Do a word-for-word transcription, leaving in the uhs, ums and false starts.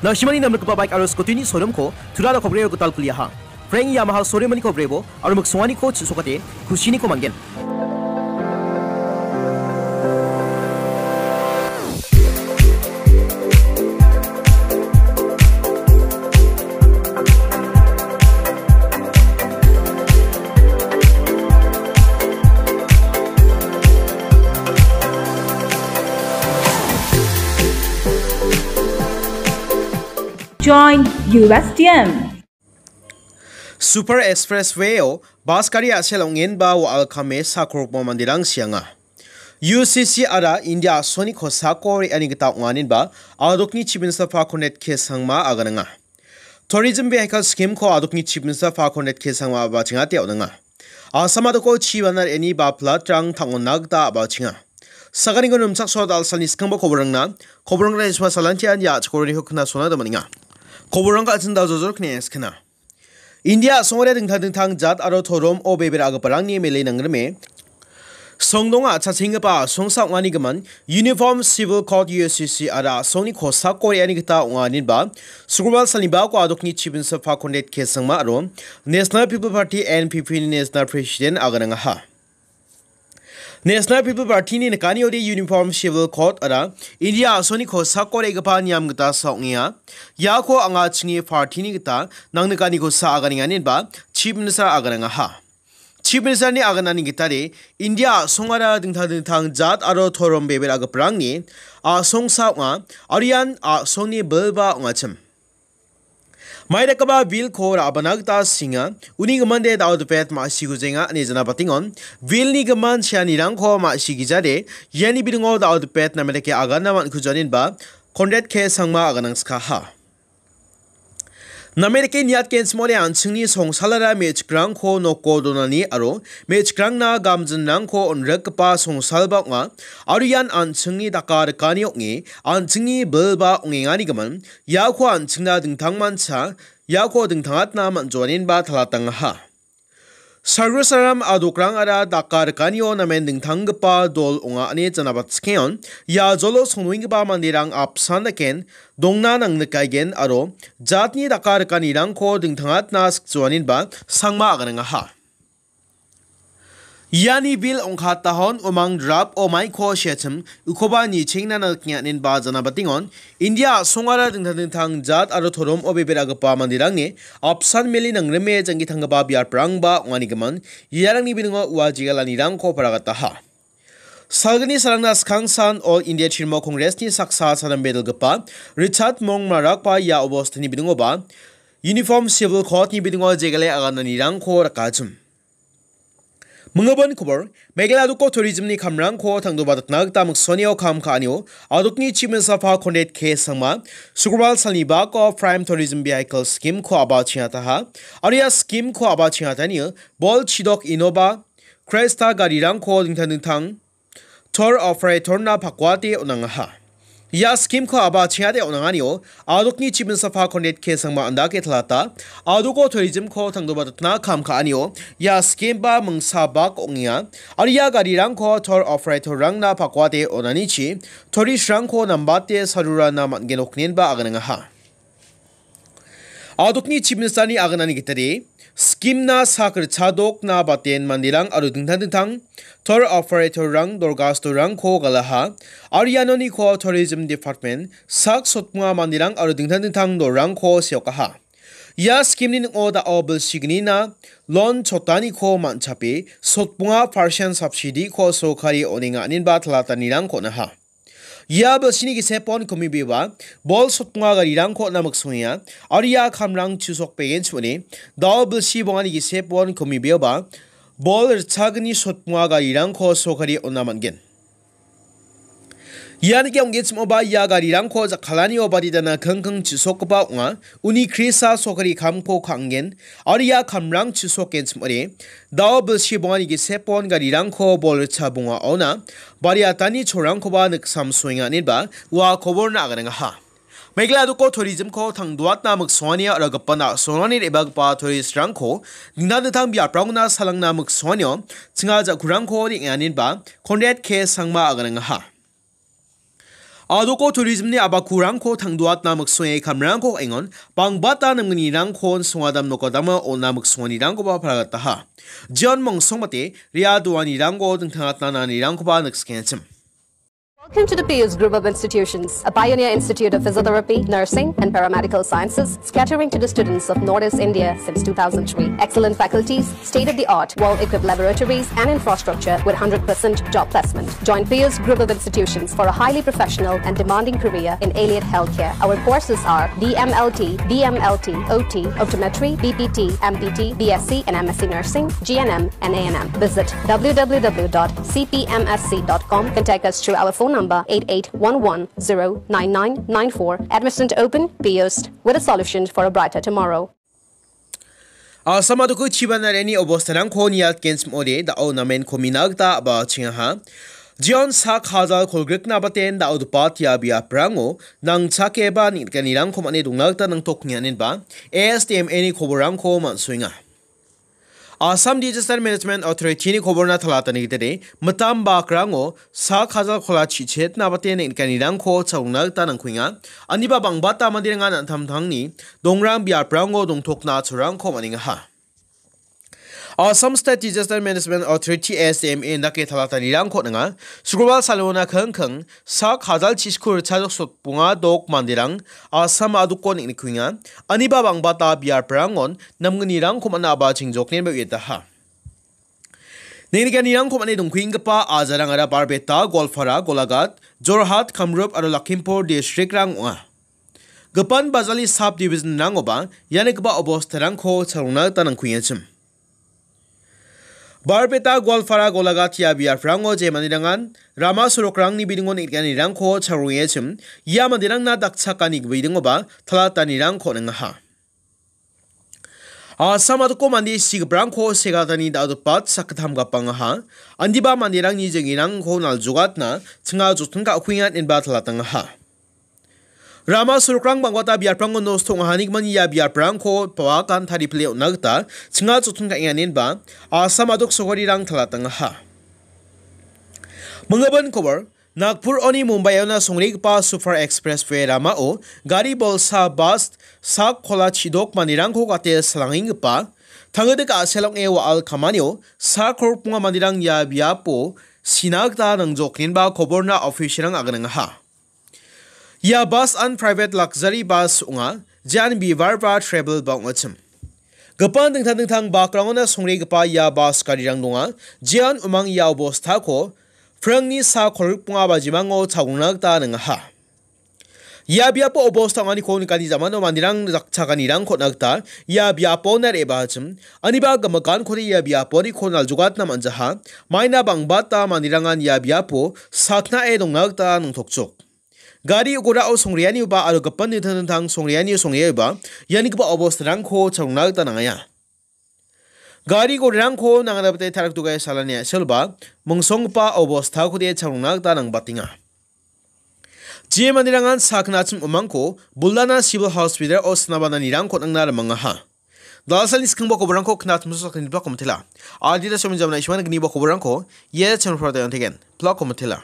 Na·simani namrikgipa baik aro scooty-ni showroom-ko Tura aro Kobreo gital kuliaha. Frank Yamaha showroom-aniko brebo aro miksonganiko chisokate kusiniko man·gen. Join U S T M. Super Expressway-o bas gari a·sel ong·enba wa·alkame sakrokba manderang sianga. U C C ara India a·songni kosako re·ani gita ong·aninba adokni Chief Minister Conrad K Sangma aganenga. Tourism Vehicle Scheme-ko adokni Chief Minister Conrad K Sangma abachengate on·enga. Assam adoko chi bana re·ani ba flood-rang tang·ona gita abachenga. Saganiko nimchakso dal·salni skangba koborangna, koborangna isma salantian ia·chikoroniko knasona damanenga. Koborangko an·ching dal·jojor kne·e skena. India a·songara dingtang dingtang jat aro torom o bebera·giparangni mele nangrime songdonga chachenggipa a·songsa ong·anigimin Uniform Civil Code U C C ara a·songni kosako re·ani gita ong·aninba, Sukurwal salnibako adokni Chief Minister Conrad K Sangma aro National People Party, N P P, ni National President aganengaha. National People Party-ni nikaniode Uniform Civil Code ara India a·songni kosako re·gipa niam gita sa·ongenga. Iako anga chingni party-ni gita nangnikani kosa aganenganinba Chief Minister aganengaha. Chief Minister-ni aganani gitade India a·songara dingtang dingtang jat aro torom bebera·giparangni a·songsa ong·a, aro ian a·songni bilba ong·achim. Maidakgipa bill-ko ra·bana gita singa, uni gimande dal·dipet ma·sikujenga ine janabatengon, bill-ni gimin seanirangko ma·sikijade, iani bidingo dal·dipet name dake agana man·kujaninba Conrad K Sangma aganangskaha. Name dake niatgenchimode an·chingni songsalara me·chikrangko noko donani aro me·chikrangna gamjinrangko on·rikgipa songsalba ong·a, aro ian an·chingni daka rikani ong·e, an·chingni bilba ong·enganigimin, iako an·chingna dingtangmancha, iako dingtangatna man·joaninba talatangaha. Sargro saram adokrangara daka rikanio namen dingtanggipa dol ong·a ine janabatskeion, ia jolo songdoenggipa manderang apsan daken dongna nangnikaigen aro jatni daka rikanirangko dingtangatna sikjoaninba Sangma aganengaha. Iani bil ong·katahon umang drap o maiko seachim ukoba nichengna nikenggipa janabatengon, India a·songara dingtang dingtang jat aro torom o bebera·gipa manderangni apsan mele nangrime janggi tanggipa biaprangba ong·anigimin, iarangni biningo ua jegalanirangko paragataha. Salgni salangna skangsan All India Trinamool Congress-ni saksa sadam bedilgipa Richard Mong Marakba ia obostani biningoba Uniform Civil Code-ni biningo jegale agananirangko rakachim. Mingibon kobor, Meghalaya doko tourism-ni kamrangko tangdoba datna gita miksonio kam ka·anio, adokni Chief Minister Conrad K Sangma, Sukurwal salnibako Prime Tourism Vehicle Scheme-ko aba chingataha, aro ia scheme-ko aba chingatani bol chidok Innova, Cresta garirangko dingtang dingtang tour operator-na pakuate on·angaha. Ia scheme-ko aba chingate on·anganio, adokni Chief Minister Conrad K Sangma andake talata, adoko tourism-ko tangdoba datna kam ka·anio, ia scheme-ba mingsa bak ong·enga, aro ia garirangko tour operator-rangna pakuate on·anichi, tourist-rangko nambate sarurana man·gen oknenba aganengaha. Adokni Chief Minister-ni aganani gitade, scheme-na sak ritchadokna baten manderang aro dingtang dingtang tour operator-rang dorgastorangko galaha, aro ianoniko Tourism Department sak sotmonga manderang aro dingtang dingtang dolrangko seokaha. Ia scheme-ni ning·o da·o bilsignina loan chotaniko man·chape sotmonga percent subsidy-ko sorkari on·enga inenba talatanirangko on·aha. Ia bilsini gisepon komibeba bol sotmonga garirangko on·na miksongenga, aro ia kamrang chusokbegenchimode da·o bilsi bongani gisepon komibeoba bol ritchagni sotmonga garirangko sorkari on·na man·gen. Ia nike ong·genchimoba ia garirangko jakkalani obadidana kingking chisokgipa ong·a, uni krisa sorkari kamko ka·angen, aro ia kamrang chisokgenchimode da·o bilsi bongani gisepon garirangko bol ritcha bongaona bariatani cholrangkoba niksamsoenga inenba ua koborna aganengaha. Meghalaya doko tourism-ko tangdoatna miksongani aro gipin a·songani re·bagipa tourist-rangko dingtang dingtang biaprangona salangna miksonganio chinga ja·kurangko re·enganinba Conrad K Sangma aganengaha. Adoko tourism-ni abakurangko tangdoatna miksonge kamrangko engon, bangbata namgnirangkon songadam nokadama ona miksonganirangkoba paragataha. John Mongsongmate, ria doanirangko dingtangatna nanirangkoba nikskengachim. Welcome to the Pius Group of Institutions, a pioneer institute of physiotherapy, nursing, and paramedical sciences, catering to the students of Northeast India since two thousand three. Excellent faculties, state-of-the-art, well-equipped laboratories, and infrastructure with hundred percent job placement. Join Pius Group of Institutions for a highly professional and demanding career in allied healthcare. Our courses are D M L T, B M L T, O T, optometry, B P T, M P T, B S C, and M S C nursing, G N M, and A N M. Visit W W W dot C P M S C dot com. Contact us through our phone number eight eight one one zero nine nine nine four. Admission open, Pius, with a solution for a brighter tomorrow. Assam adoku chibanareni obostarangko niatgenchim ode dao namen komina gita abachingaha. Jion sak hajal kolgrikna baten dao dupat ia biaprango nangchakeba nikganirangko mane dongna gita nangtoknianenba A S T M A ni koborangko mansuenga. Assam Disaster Management Authority ni koborna talatani gitade mitam bakrango sak hajal kola chichetna bate nikganirangko chalongna gita nangkuenga. Aniba bangbata manderangan an·tangtangni dongrang biaprango dongtokna cholrangko man·engaha. Assam State Disaster Management Authority, A S D M A, indake talatanirangko ninga. Sugrobal salona kengkeng sak hajal chiskur chajok sotbonga dok manderang Assam adoko niknikuenga. Aniba bangbata biaprangon namgnirangko man·a aba chingjoknenba uietaha. Nengnikanirangko man·e dongkuenggipa ajarangara Barbeta, Goalpara, Golaghat, Jorhat, Kamrup aro Lakhimpur district-rang ong·a. Gipin Bajali sub-division-rangoba ia nikgipa obostarangko chalongna gita nangkuengachim. Barbeta, Goalpara, Golaghat ia biaprango je manirangan rama sorokrangni bidingo nikganirangko chalongengachim, ia manderangna dakchakani bidingoba talatanirangko ningaha. Assam adoko mande sigiprangko segatani dal·gipat sakgittam gapangaha. Andiba manderangni jengirangko naljogatna chinga jotin ka·kuenga inba talatangaha. Rama sorokrang bangbata biaprango nosto ong·ahanigimani ia biaprangko pawakan taripile on·na gita chinga jotin ka·enganinba Assam adok sogarirang talatangaha. Minggipa kobor, Nagpur oni Mumbaiona songregipa Super Expressway ramao gari bolsa bus sak kola chidok manderangko gate salangenggipa tangdik a·sel ong·e wa·al kamanio sak rokbonga manderang ia biapo sina gita nangjokgenba koborna official-rang aganangaha. Ia bus an private luxury bus ong·a, jean bivarva travel ba ong·achim. Gipin dingtang dingtang bakrangona songregipa ia bus garirang donga, jean umang ia obostako pringni sak kolgrikbonga bajimango chalongna gita ningaha. Ia biapo obosta ong·aniko nikani jamano manderang dakchakanirangko on·a gita ia biapona re·baachim, aniba gimikaniko ia biaponiko naljogatna man·jaha, maina bangbata manderangan ia biapo saknae dongna gita nangtokjok. Gari gorao songreanioba aro gipin dingtang dingtang songreanio songreoba ianigipa obostarangko chalongna gita nang·aia. Gari gorirangko nangna gita tarakdogae salani a·selba mongsonggipa obostakode chalongna gita nangbatenga. Je manderangan sakna achim umangko Buldana Civil Hospital-o sinabananirangko nangna rimangaha. Dalsalni skangba koborangko knatimso sakniba komitela. Adita somin jamna ishwan gniba koborangko ia channel-o pratayontigen. Plak komitela.